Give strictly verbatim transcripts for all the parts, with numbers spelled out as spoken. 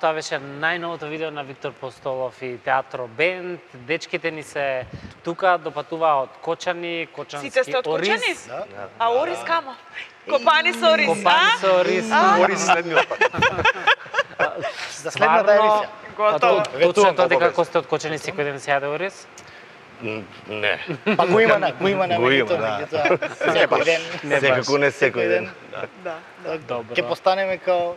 Тоа беше најновото видео на Виктор Постолов и Театро Бенд. Дечките ни се тука, допатуваа од Кочани, Кочански Сите сте од Кочани? Ориз. Да. А Орис камо? Копани со Орис, Копани а? со Ориз. Орис следниот пат. За следната емисија. Готово. Точно е тоа дека обавезно. ако сте од Кочани секој ден се јаде Ориз? Не. Па го има на, го има на Го има, менито, да. меѓутоа секој ден. Не Секако не секој ден. Да. Добро. Ќе постанеме као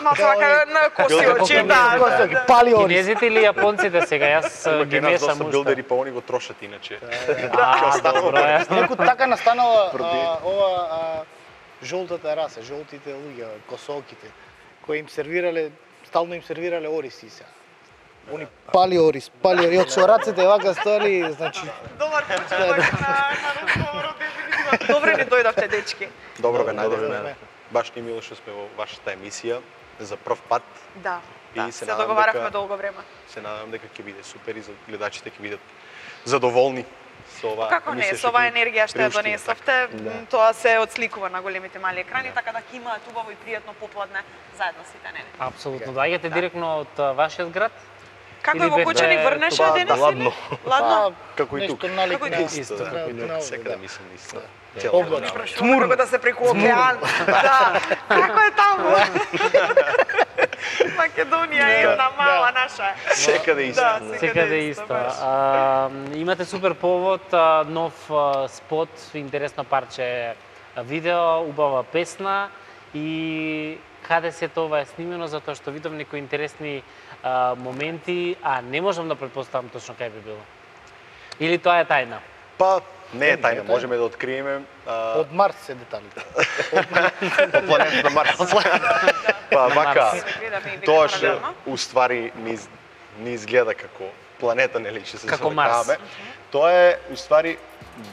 Ма така на коси очи, Како да. Коси, да. пали Орис. Кинезите или јапонците сега? Јас Има ги кај нас мешам доста уште. билдери, па они го трошат иначе. А, добро е. Неку така настанала а, ова а, жолтата раса, жолтите луѓе, косолките, кои им сервирале, стално им сервирале ориси сега. Они пали Орис, пали Орис, од со рацете вака стоели, значи Добар почеток на на разговорот, дефинитивно. Добре ни дојдовте, дечки. Добро ве Добро најдовме. време. Баш ни мило што сме во вашата емисија за прв пат. Да. И Да, се се надам договаравме дека- долго време. Се надам дека ќе биде супер и за гледачите ќе бидат задоволни со оваа Како не, емисија со оваа ќе енергија што ја приуштиме. донесовте, м, тоа се отсликува на големите мали екрани, така да ќе имаат убаво и пријатно попладне заедно сите, не не. Апсолутно. Доаѓате директно од а, вашиот град? Како Или е во беше Кочани, врнеше тоа, денес да, или? ладно. Ладно. Како и тук. нешто налик Како и на тук. Исто, на- како и на- тук, секаде да. мислам исто. Да. Цело Облак. време. Прашуваме како да се преку океан. Да. Како е таму? Македонија е една мала наша. Секаде исто. Да, Секаде исто. баш. А, имате супер повод, а, нов а, спот, интересно парче а, видео, убава песна и каде се тоа е снимено, затоа што видов некои интересни а, моменти, а не можам да предпоставам точно кај би било. Или тоа е тајна? Па, не е тајна, можеме да откриеме а, Од Марс се деталите. по планетата Марс. Па, вака, Марс. Гледаме и вика тоа што паралелно. уствари ни, из- ни изгледа како планета, нели, што се Како завлекаваме. Тоа е уствари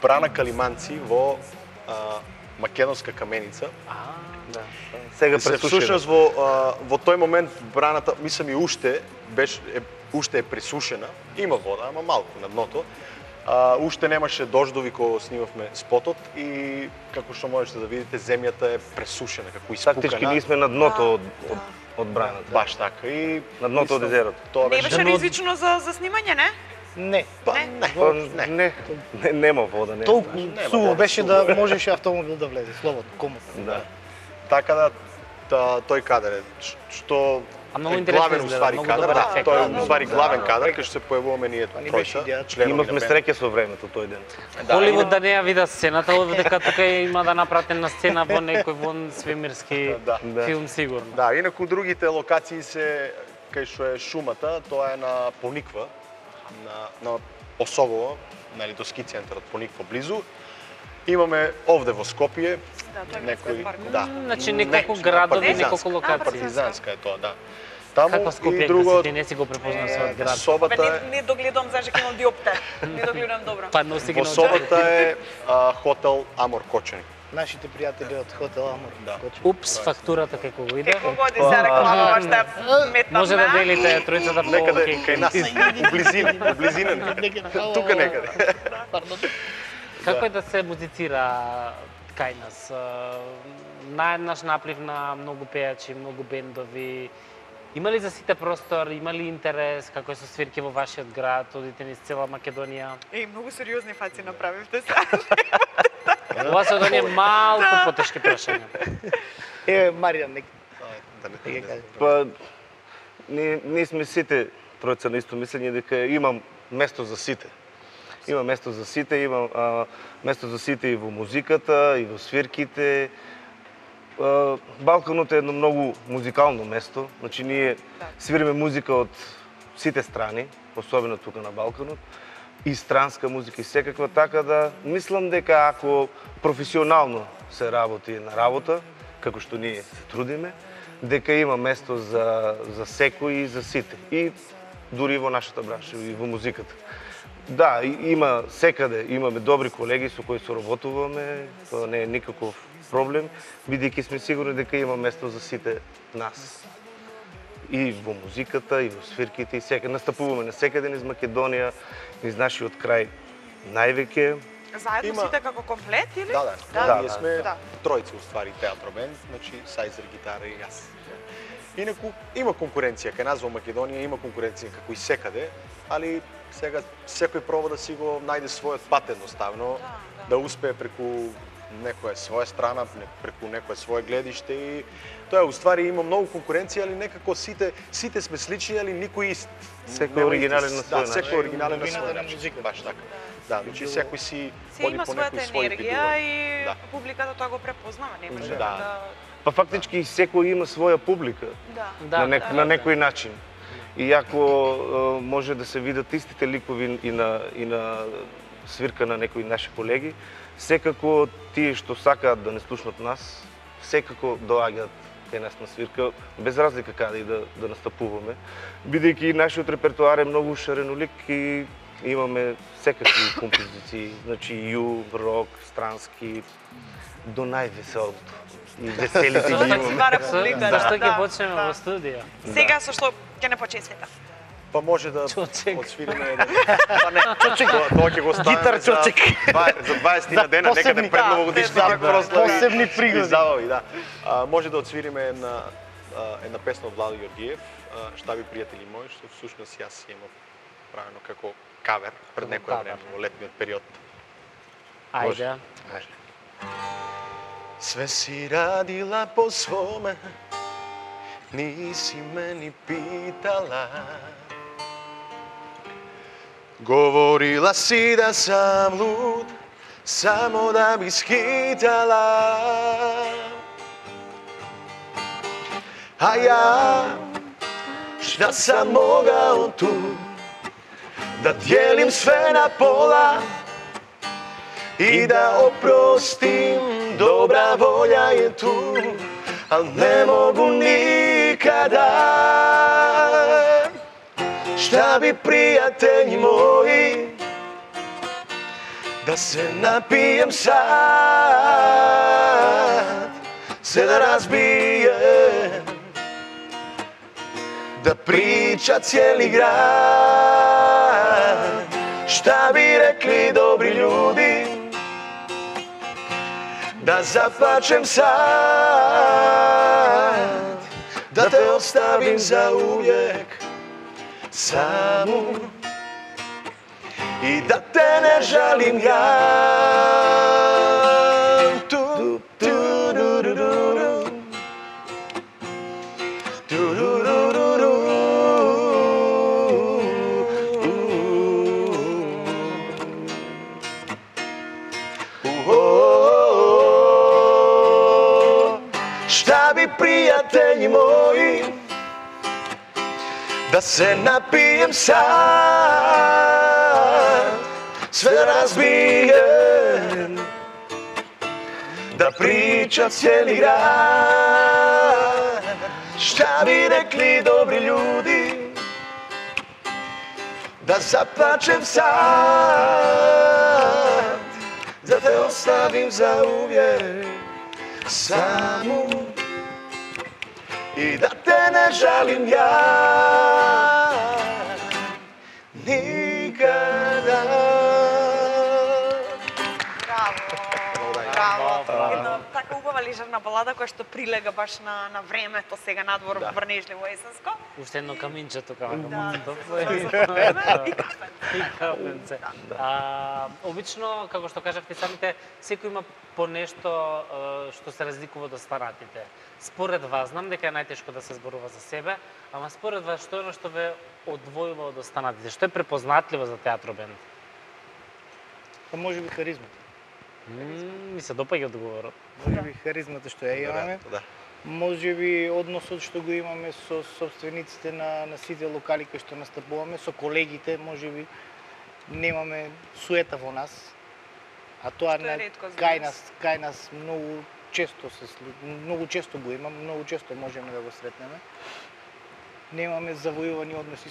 Брана Калиманци во а, македонска каменица. А, да. Сега Се пресушено. всушност во а, во тој момент браната, мислам и уште беше е, уште е пресушена. Има вода, ама малку на дното. А, уште немаше дождови кога снимавме спотот и како што можете да видите земјата е пресушена, како испукана. Фактички ние сме на дното од, од, од браната. Баш така и На дното од мислам, езерото. Тоа Не беше беше Дано- ризично за за снимање, не? Не. па Не. не. Па, не. не, не, нема вода, не. Толку Нема суво вода, беше суво да можеше автомобил да влезе, слободно, комотно. Да. Така да та, тој кадар е ш- што А многу е интересно главен изгледа, уствари многу кадар, добар да, ефект. тој Да, е да, уствари да. главен кадар кај што се појавуваме ние Па ни беше тројца, идејата. членови Имавме на бенд. среќа со времето тој ден. Да, Холивуд и- да не ја вида сцената, дека тука има да напратена сцена во некој вон свемирски Да. Да. филм сигурно. Да, инаку другите локации се кај што е шумата, тоа е на Пониква, на на Осогово, нели до ски центарот Пониква близу. Имаме овде во Скопје Да, тоа е некои, парк. да. Значи неколку Не, градови, партизанска. неколку локации. Партизанска е тоа, да. Таму Каква и Скопје, друго да си ти не си го препознал својот град. Бе, Собата е не, не догледам зашто ќе имам диоптер. Не догледам добро. Па носи ги во на Собата е а, хотел Амор Кочани. Нашите пријатели од хотел Амор. Да. Кочани. Упс, фактурата како го иде. Како годи се реклама што метам. Може да делите тројцата по Некаде окей. кај нас, у близина, у близина. Тука некаде. Пардон. Како е да се музицира кај нас? А, Наеднаш наплив на многу пејачи, многу бендови. Има ли за сите простор, има ли интерес, како е со свирки во вашиот град, одите низ цела Македонија? Еј, многу сериозни фаци направивте се. Ова се од оние малку потешки прашања. Е, Маријан, нека Да не ќе не каже. Па, ние, ние сме сите тројца на исто мислење дека имам место за сите. Има место за сите, има а, место за сите и во музиката, и во свирките. А, Балканот е едно многу музикално место. Значи ние свириме музика од сите страни, особено тука на Балканот, и странска музика и секаква, така да мислам дека ако професионално се работи на работа, како што ние се трудиме, дека има место за, за секој и за сите. И дури и во нашата бранша, и во музиката. Да, и- има секаде, имаме добри колеги со кои соработуваме, тоа не е никаков проблем, бидејќи сме сигурни дека има место за сите нас. И во музиката, и во свирките, и секаде. Настапуваме на секаде низ Македонија, низ нашиот крај највеќе. Заедно Има- сите како комплет или? Да, да, Да, ние сме да. тројци уствари театро бенд, значи Сајзер, гитара и јас. Инаку има конкуренција, кај нас во Македонија има конкуренција како и секаде, али сега секој проба да си го најде својот пат едноставно, да, да. да успее преку некоја своја страна, преку некоја свое гледиште и тоа уствари има многу конкуренција, али некако сите сите сме слични, али никој ист. Секој оригинален на свој начин. Да, секој оригинален на свој начин. начин. Баш така. Да, значи секој си Се води има по својата некој свој енергија пидување. и Да. публиката тоа го препознава, не може Да. да... Па фактички секој има своја публика Да. Да, на, нек, да, на да. некој начин. Иако е, може да се видат истите ликови и на и на свирка на некои наши колеги, секако тие што сакаат да не слушнат нас, секако доаѓаат кај нас на свирка, без разлика каде и да, да настапуваме, бидејќи нашиот репертоар е многу шаренолик и имаме секакви композиции, значи ю, рок, странски, до највеселото. И веселите ги Зашто си имаме. вара публика, да, Зашто ќе да, почнеме да. во студио? Сега со што ќе не почне света. Па може да Чочек. отсвириме еден. Па не, чочек. Тоа, тоа ќе го ставиме Гитар за, чочек. два- за дваесет на дена, посебни, некаде пред да, новогодишните да, прослави. посебни пригоди. и забави, да. А, може да отсвириме една а, една песна од Владо Јоргиев, а, Шта би пријатели мои, што всушност јас си имав правено како кавер пред Како некој кавер. време во летниот период. Ајде. Може. Све си радила по своме, ниси ме ни питала. Говорила си да сам луд, само да би скитала. А ја, шта сам могал ту, да диелим све на пола и да опростим, добра волја е ту, ал не могу никада. Шта би пријатели мои, да се напиjem сад, се да разбиjem, да прича cijeli grad. Šta bi rekli dobri ljudi, da zaplačem sad, da te ostavim za uvijek samu i da te ne žalim ja. Tu, tu, du, du, du, du. Tu, du, du, du, du. Šta bi prijatelji moji, da se napijem sad, sve razbijem, da priča cijeli grad. Šta bi rekli dobri ljudi, da zaplačem sad, da te ostavim za uvijek samu i da te ne žalim ja nikada. Браво! Браво! Една така убава лижерна балада која што прилега баш на на времето сега надвор Да. врнежливо есенско. Уште едно каминче тука. Да, Топло е. и кафе. И кафенце. А, обично, како што кажавте самите, секој има по нешто а, што се разликува од останатите. Според вас, знам дека е најтешко да се зборува за себе, ама според вас што е оно што ве одвојува од останатите? Што е препознатливо за театробенд? Па може би харизмата. Мм, ми се допаѓа одговорот. Може би харизмата што ја имаме. Да. Може би односот што го имаме со собствениците на, на сите локали кои што настапуваме, со колегите, може би немаме суета во нас. А тоа Што е на, ретко за кај нас. нас, кај нас многу често се слу- многу често го имам, многу често можеме да го сретнеме. Немаме завојувани односи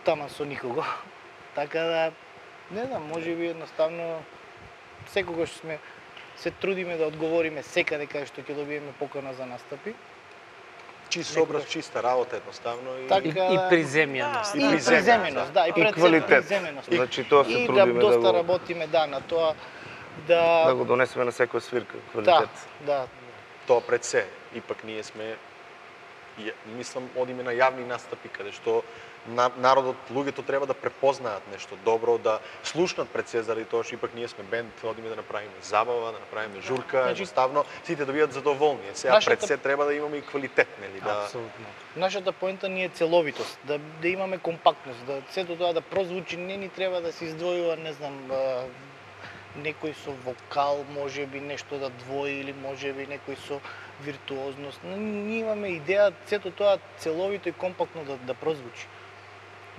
таман со никого. Така да не знам, може би едноставно секогаш сме се трудиме да одговориме секаде кај што ќе добиеме покана за настапи. Чист образ, чиста работа едноставно и Така, И, и приземјеност. И, И приземеност, приземеност, да, и, И пред се квалитет. приземеност. Значи тоа се И да трудиме да доста го работиме да на тоа да да го донесеме на секоја свирка да, квалитет. да, тоа пред се. Ипак ние сме ја- мислам, одиме на јавни настапи, каде што на- народот, луѓето треба да препознаат нешто добро, да слушнат пред се, заради тоа што ипак ние сме бенд, одиме да направиме забава, да направиме журка, Значи- едноставно сите да бидат задоволни. Е, Сега Нашата- пред се треба да имаме и квалитет, нели, да Апсолутно. Нашата поента ни е целовитост, да, да имаме компактност, да сето тоа да прозвучи, не ни треба да се издвојува, не знам, а, некој со вокал, можеби нешто да двои или можеби некој со виртуозност. Но ние имаме идеја сето тоа целовито и компактно да, да прозвучи.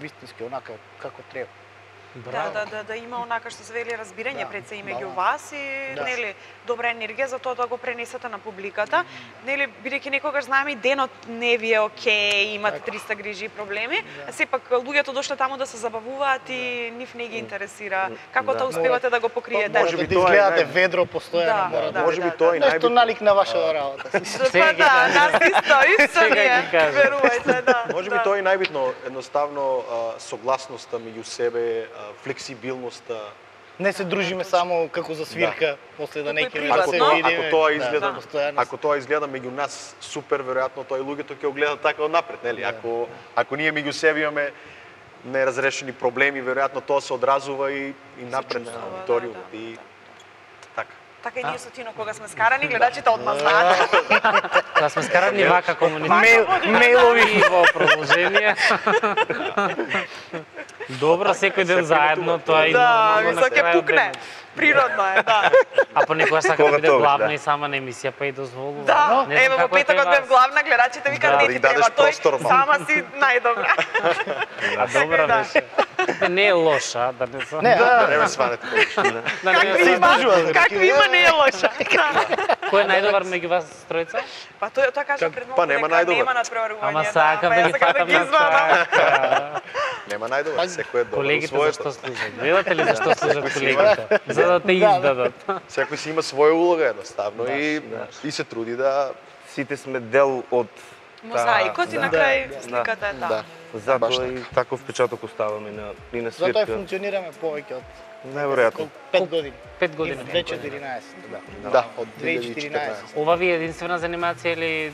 Вистински, онака како треба. Да, Браво. да, да, да има онака што се вели разбирање Да, пред се и да, меѓу да. вас и Да. нели добра енергија за тоа да го пренесете на публиката. Нели бидејќи некогаш знаеме и денот не ви е окей, имате Така. триста грижи и проблеми, Да. а сепак луѓето дошле таму да се забавуваат и нив не ги интересира како Да. тоа успевате да го покриете. Може Може би да тоа е изгледате нај- ведро постојано, Да, мора да, може би да, тоа е нешто најбитно. налик на вашата работа. Сега Па ќе да, кажа. нас исто, исто Сега ни е, ќе кажа. верувајте, да. Може би да. тоа е најбитно, едноставно а, согласноста меѓу себе, а, флексибилноста. Не се дружиме само како за свирка, после да Како и не ќе приватно. Ако се тоа, видиме. ако тоа Да, изгледа, постојано. ако тоа изгледа меѓу нас супер, веројатно тоа и луѓето ќе го гледат така однапред, нели? Да. Ако ако ние меѓу себе имаме неразрешени проблеми, веројатно тоа се одразува и и напред на чувствува, аудиториумот да, да, и да. така. Така и ние со Тино кога сме скарани, гледачите одма знаат. Да сме скарани вака комуницација. Мейл, мейлови. И во продолжение. Добро, секој ден Секој заедно, патува. тоа е и Да, нормално на мислам ќе крајот пукне. денот. Природно е, да. А понекогаш сака да Кога биде тоа, главна да. и сама на емисија, па и дозволува. Да, Не знам ево во како е петокот кај бев вас. главна, гледачите викаат Да, не да ти й дадеш треба тој, простор малку. сама си најдобра. А добра Да. беше. Не, не е лоша, да не сум. Не, Да а, не ме сванете. Да не Какви се има, издржува, какви има не е лоша. Кој е најдобар меѓу вас тројца? Па тој тоа кажа пред Па малку нема дека најдобар. нема надпреварување. Ама да, сакам па да ја ги сакам да фатам ги на извадам. крај. Нема најдобар, секој е добар. Колегите во зашто своето. служат? Гледате ли зашто служат Секој си колегите? За да те Да, да. издадат. Секој си има своја улога едноставно и да. и се труди да Сите сме дел од Мозаикот и Да. на крај Да. сликата е таа. да. Баш Затоа и таков впечаток оставаме на и на затоа и свирка. функционираме повеќе од Најверојатно. пет години. Пет години. две тисячи четиринаесет, да. Да, од две тисячи две илјади и четиринаесет. четиринаесет. Ова ви е единствена занимација или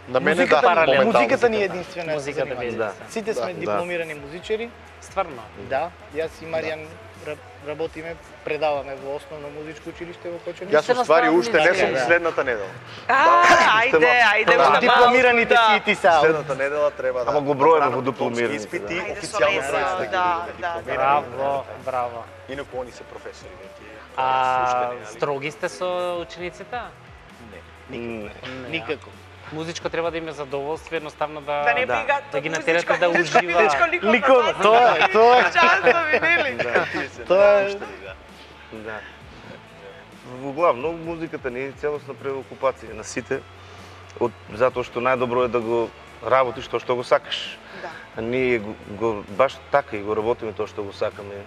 На мене Музиката, да, ни, паралелно. музиката ни е Да. единствена Музиката ви е занимање. Да. единствена. Сите сме Да. дипломирани музичари. Стварно? Да, јас и Маријан ра- работиме, предаваме во основно музичко училиште во Кочани. Јас Сте уствари наставници, уште не сум да. следната недела. А, ајде, ајде, Да. уште Дипломираните малку, си и ти са. Следната недела треба да Ама го броеме направам во дипломираните, дипломски испит и да. Ајде, официјално со предстои лесно, да, да да, дипломирам. Браво, браво. Инаку они се професори веќе. А слуштени, али- строги сте со учениците? Не. Не. Никако. Музичко треба да им е задоволство, едноставно да Да не Да. брига, да ги музичко- натерате да музичко, ужива. музичко, ликовно, Ликовно, басно, тоа е, тоа е. Частови, нели? Тоа е Да. Во главно музиката ни е целосна преокупација на сите, од затоа што најдобро е да го работиш тоа што го сакаш. Да. А ние го, го баш така и го работиме тоа што го сакаме.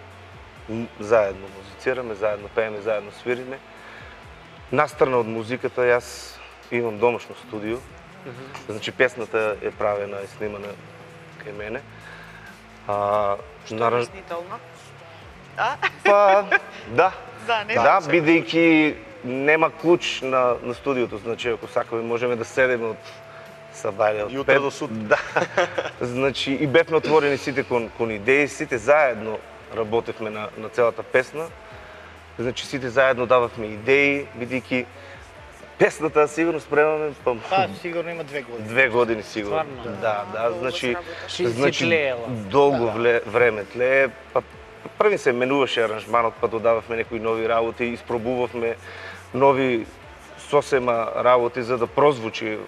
М, Заедно музицираме, заедно пееме, заедно свириме. Настрана од музиката, јас имам домашно студио. Значи песната е правена и снимана кај мене. А, наран- Признително. А? Па, да. Да, не? Да, бидејќи нема клуч на, на студиото, значи ако сакаме можеме да седеме од сабајле од Јутро пет. до сутра. Да. Значи и бевме отворени сите кон, кон идеи, сите заедно работевме на, на целата песна. Значи сите заедно дававме идеи, бидејќи песната сигурно спремаме па, Па, сигурно има две години. две години сигурно. Стварно? Да, да, Долго значи се работеше. Си- си значи тлеела. долго вле, време тлее, па први се менуваше аранжманот, па додававме некои нови работи, испробувавме нови сосема работи за да прозвучи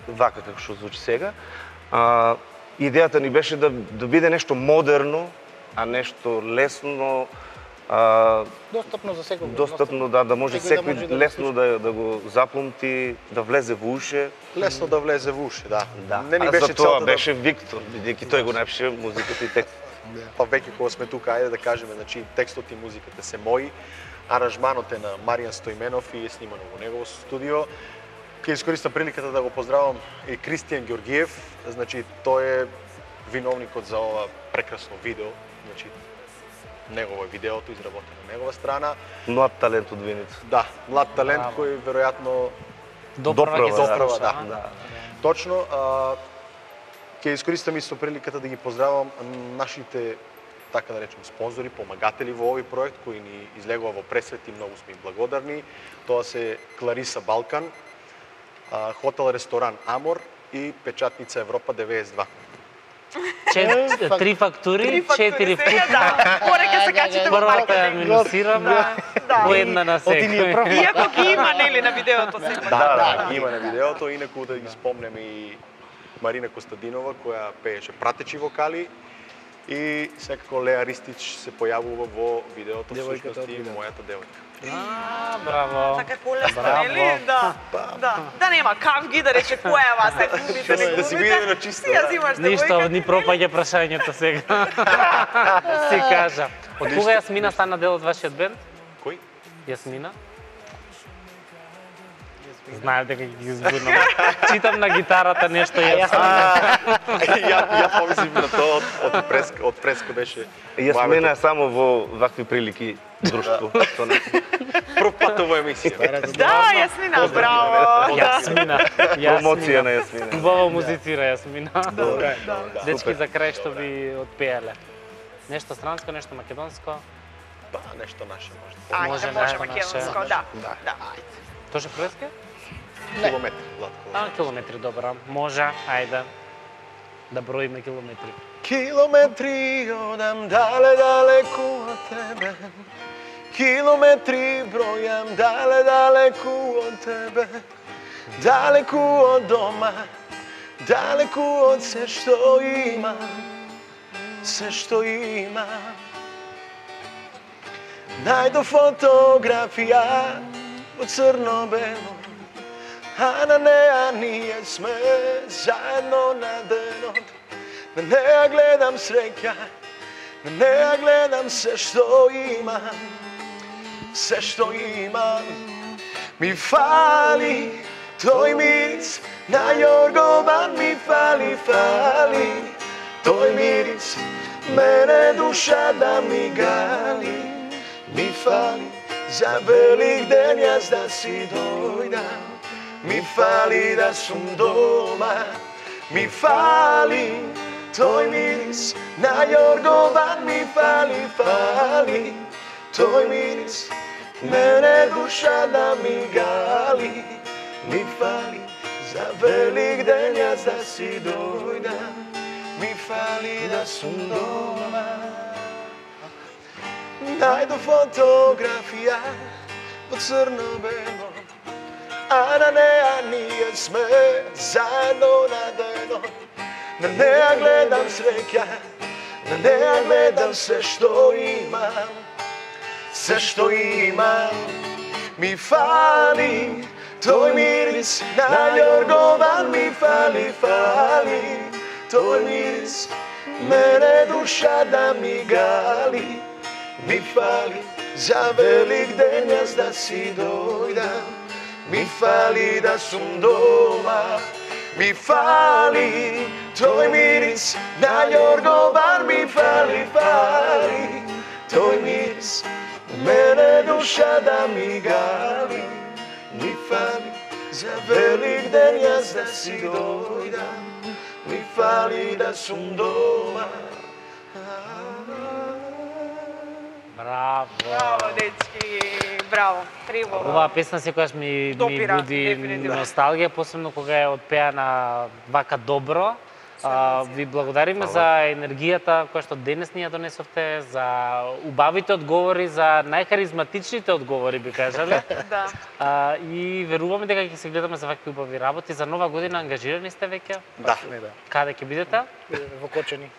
вака како што звучи сега. А, идејата ни беше да, да биде нешто модерно, а нешто лесно, а, Достапно за секој. достапно да, да може Секој да секој може да го лесно да, да го запомти, да влезе во уше. Лесно да влезе во уши, да. Да. Не ни а беше за тоа целта да- беше Виктор, бидејќи тој го напише музиката и текстот. Па веќе кога сме тука, ајде да кажеме, значи текстот и музиката се мои, аранжманот е на Маријан Стојменов и е снимано во негово студио. Ќе искористам приликата да го поздравам и Кристијан Ѓоргиев, значи тој е виновникот за ова прекрасно видео, значи негово е видеото изработено на негова страна. Млад талент од Виница. Да, млад талент Браво. кој веројатно Доправа ќе се Доправа, слуша, да. а? Да. Точно, а, ќе искористам исто приликата да ги поздравам нашите, така да речем, спонзори, помагатели во овој проект кои ни излегува во пресвет и многу сме благодарни. Тоа се Клариса Балкан, а, хотел ресторан Амор и печатница Европа деветдесет и два. Чет, три фактури, четири сега, вкупно. да. Горе ќе се качите во Првата ја маркетинг. минусираме, Да. по една на секој. Иако ги има нели на видеото сепак. Да, да, ги има на видеото, инаку да ги спомнеме и Марина Костадинова која пееше пратечи вокали и секако Леа Ристич се појавува во видеото, всушност и мојата девојка. А, браво. Така колесно, Браво. нели? Да. Да. Да нема кавги да рече која е вас, ако губите, не Да си губите. биде на чисто, Си ја да. зимаш Ништо, девојката, ни пропаѓа прашањето сега. Си кажа. Од кога Јасмина стана дел од вашиот бенд? Кој? Јасмина? Знаев дека ќе ги збунам. Читам на гитарата нешто Јасмина. ја ја помислив на тоа од, од преска, од преска беше. Јасмина само во вакви прилики друштво. Тоа не. Прв пат во емисија. Да, Јасмина, браво. Да. Јасмина. Промоција на Јасмина. Убаво музицира Јасмина. Добре. Дечки за крај што би отпеале. Нешто странско, нешто македонско. Па, нешто наше може. Ајде, Може може нешто македонско, наше. да. Да. Да. Тоже преске? Километри, Владко. А, километри, добро. Може, ајде. Да броиме километри. Километри одам дале далеку од тебе. Километри бројам дале далеку од тебе. Далеку од дома, далеку од се што имам, се што имам. Најдов фотографија во црно-бело, а на неа ние сме заедно на денот. На неа гледам среќа, на неа гледам се што имам, се што имам. Ми фали тој мирис на јоргован, ми фали, фали тој мирис, мене душа да ми гали. Ми фали за велик ден јас да си дојдам, ми фали да сум дома, ми фали тој мирис на јоргован, ми фали, фали тој мирис, мене душа да ми гали. Ми фали за велик ден јас да си дојдам, ми фали да сум дома. Најдов фотографија во црно-бело, а на неа ние сме заедно на денот. На неа гледам среќа, на неа гледам се што имам, се што имам. Ми фали тој мирис на јоргован, ми фали, фали тој мирис, мене душа да ми гали. Ми фали за велик ден јас да си дојдам, ми фали да сум дома, ми фали тој мирис на јоргован, ми фали, фали тој мирис, мене душа да ми гали. Ми фали за велик ден јас да си дојдам, ми фали да сум дома. Браво. Браво, дечки, браво. Треба. Оваа песна секогаш ми, ми Допира, буди дефинитивно. носталгија, посебно кога е отпеана вака добро. А, ви благодариме за енергијата која што денес ни ја донесовте, за убавите одговори, за најхаризматичните одговори, би кажале. Да. А, и веруваме дека ќе се гледаме за вакви убави работи. За нова година ангажирани сте веќе? Да. Каде ќе бидете? Во Кочани.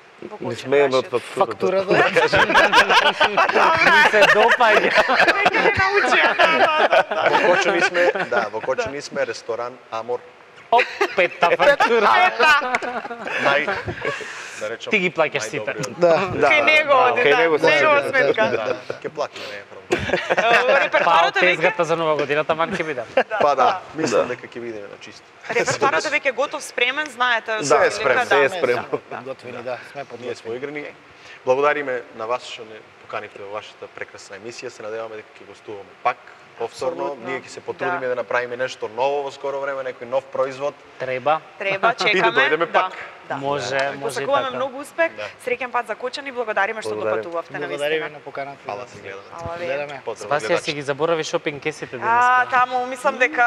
Не смееме од фактурата. Фактурата. Ми се допаѓа. Веќе не научија. Во Кочани сме, да, во Кочани сме ресторан Амор. Опетта фактура. Нај да речам. Ти ги плаќаш сите. најдобриот. Да. Кај него, Кај него да, негова се сметка. Да, ќе платиме, не е проблем. Во Па, репертуарот е веќе тезгата за нова година, таман ќе бидам. Па да, мислам дека ќе бидеме на чисто. репертуарот е веќе готов, спремен, знаете. Да, со е спремен, прилика, се е да. спремно. Подготвени, да, сме Ние подготвени. сме играни. Благодариме на вас што не поканивте во вашата прекрасна емисија. Се надеваме дека ќе гостуваме пак повторно. Апсолутно. Ние ќе се потрудиме Да. да направиме нешто ново во скоро време, некој нов производ. Треба. Треба, чекаме. И да дојдеме Да, пак. Да. Може, Да. може и Посакуваме така. многу успех. Да. Среќен пат за Кочани и благодариме што Благодарим. допатувавте на Благодариме вистина. на поканата. Фала се гледаме. Ала ве. Гледаме. Поздрав Спасија гледачи. си ги заборави шопинг кесите А, денеска. таму мислам дека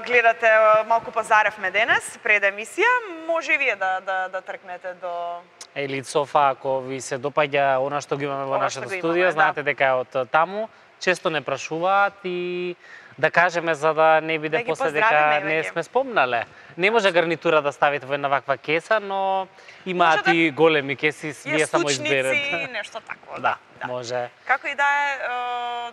гледате малку пазаревме денес пред емисија, може и вие да да да тркнете до Или Софа, ако ви се допаѓа она што ги имаме во Ова нашето што го студио, имаме, знаете да. дека е од таму. Често не прашуваат и да кажеме за да не биде Да ги после дека поздравиме, не веќе. сме спомнале. Не може гарнитура да ставите во една ваква кеса, но имаат Може да- и големи кеси, вие само јастучници, изберете. нешто такво. Да, може. Како и да е, е,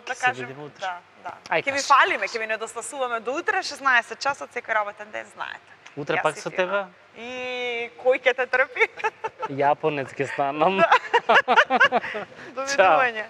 да Ќе се кажем, видиме утре. да, да. Ај, Ќе ви кажи. фалиме, ќе ви недостасуваме до утре, шеснаесет часот секој работен ден, знаете. Утре Јас пак и со ти, тебе? да. И кој ќе те трпи? Јапонец ќе станам. Довидување.